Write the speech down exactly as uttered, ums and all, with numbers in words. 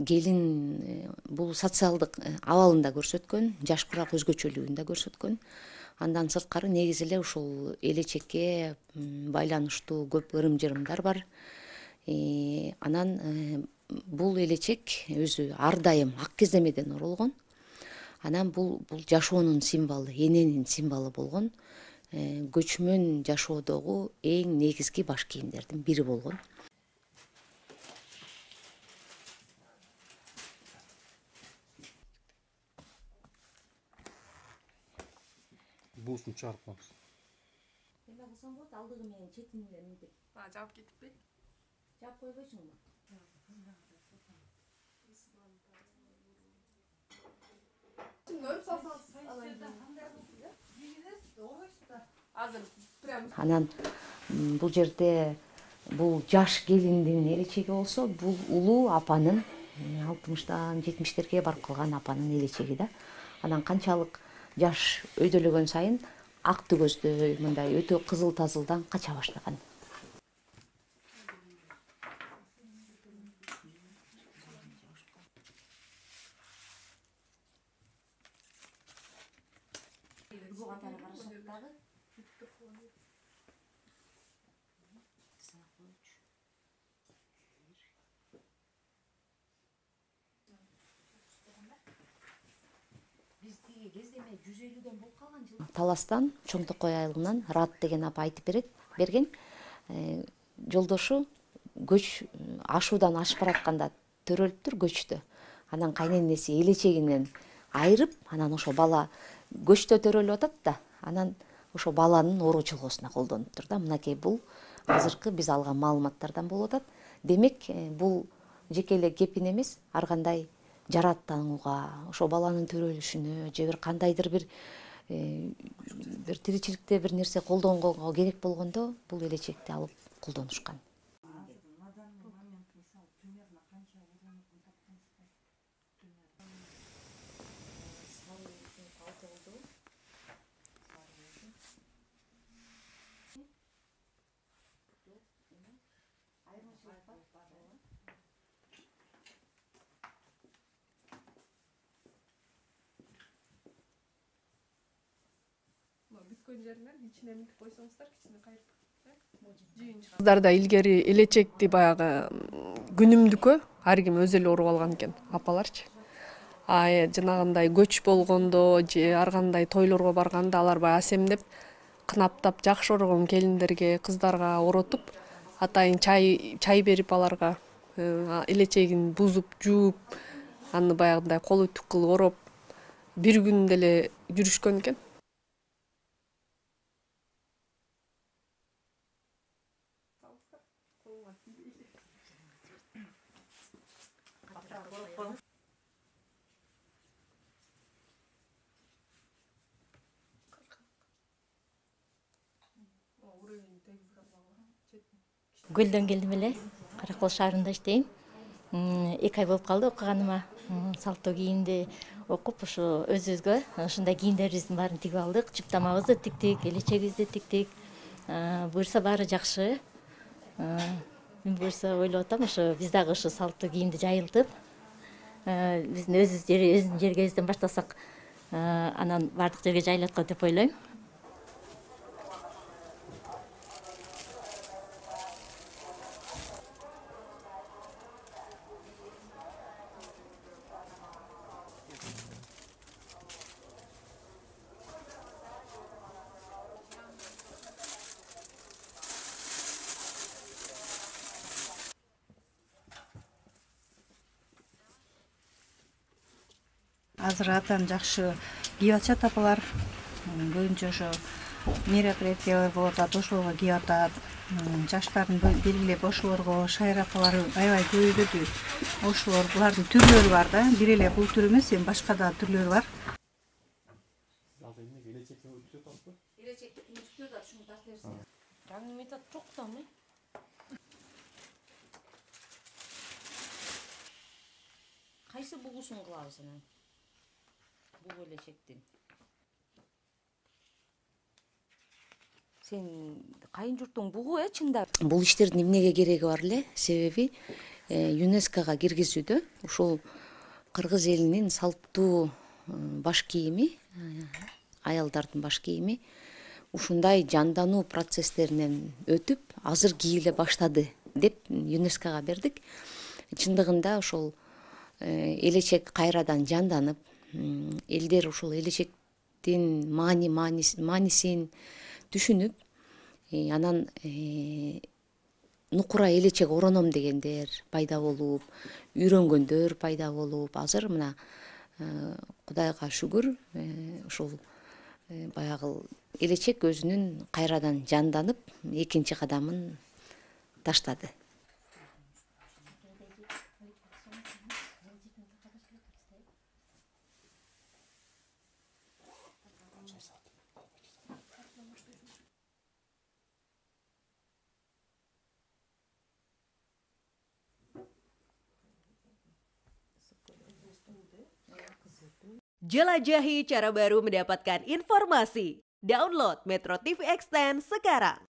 Келин бул социалдык абалын да көрсөткөн, жаш курак өзгөчөлүгүн да көрсөткөн. Андан сырткары негизи эле ушул элечекке байланыштуу көп ырым-жырымдар бар. Анан бул элечек өзү ар дайым ак кездемеден оролгон. Анан бул бул жашоонун символу, эненин символу болгон. Көчмөн жашоодогу эң негизги баш кийимдердин бири болгон. Буусун чыгарып коебуз. Эмне кылсам болот? Алдыгы менен четин менен мынтип. А, жаап кетиппи? Жаап койбойсуңбу? Көрүп салсаңыз азыр прям. Анан бул жерде бул жаш келиндин элечеги болсо, бул улуу апанын алтымыштан жетимиштерге барып калган апанын элечеги да. Анан канчалык жаш өйдөлөгөн сайын акты көздөй, мындай өтө кызыл тазылдан кача баштаган. Таластан, Чоң Токой айылынан Рат деген апа айтып берет, берген. Жолдошу көч ашуудан ашып баратканда төрөлүптүр көчтө. Анан кайненеси элечегинен айырып, анан ошо бала көчтө төрөлүп атат да, анан ошо баланын ору чылгоосуна колдонуптур да. Мынакей бул азыркы биз алган маалыматтардан болуп атат. Демек, бул жеке эле кепин эмес, ар кандай жараттанууга, ошо баланын төрөлүшүнө же бир кандайдыр бир бир тиричиликте бир нерсе колдонгонго керек болгондо бул элечекти алып колдонушкан. Бүткөн жеринен ичине мынтип койсоңуздар, кичине кайрып. Кыздарда илгери элечекти баягы күнүмдүккө ар ким өзү эле уруп алган экен, апаларчы. А жанагындай көч болгондо же ар кандай тойлорго барганда алар баягы асемдеп, кынаптап жакшы орогон келиндерге, кыздарга оротуп, атайын чай чай берип аларга элечегин бузуп, жууп, аны баягындай кол үтүк кылып ороп, бир күн деле жүрүшкөн экен. Көлдөн келдим эле, Каракол шаарында иштейм. эки ай болуп калды окуганыма. Салттуу кийимди окуп, ошо өзүбүзгө ушундай кийимдерибиздин баарын тигип алдык. Чыптамабызды тиктик, элечегибизди тиктик. Буюрса баары жакшы. Мен буюрса ойлоп атам, ошо биз дагы ошо салттуу кийимди жайылтып, биздин өзүбүз өзүбүздүн жергебизден баштасак, анан баардык жерге жайылат го деп ойлойм. Азыр атан жакшы кийип атышат апалар. Көбүнчө ошо мероприятиялар болуп атат, ошолорго кийип атат. Жаштардын бир эле ошолорго шайыр апалар аябай көбөйбөдү. Ошолор булардын түрлөрү бар да. Бир эле бул түр эмес, эми башка да түрлөрү бар. Элечекти күнүктөр да ушуну тартып берсин. Жаңы метод жок да эмне? Кайсы бугусун кылабыз анан? Бул элечектин. сен кайын журтуң бугу э чындап. Бул иштердин эмнеге кереги бар эле? Себеби ЮНЕСКОга киргизүүдө ушул кыргыз элинин салттуу баш кийими, аялдардын баш кийими ушундай жандануу процесстеринен өтүп, азыр кийиле баштады деп ЮНЕСКОга бердик. Чындыгында ошол элечек кайрадан жанданып, элдер ушул элечектин маани маанисин түшүнүп, анан нукура элечек ороном дегендер пайда болуп, үйрөнгөндөр пайда болуп, азыр мына Кудайга шүгүр, ушул баягы элечек өзүнүн кайрадан жанданып, экинчи кадамын таштады. Jelajahi cara baru mendapatkan informasi. Download Metro T V Extend sekarang.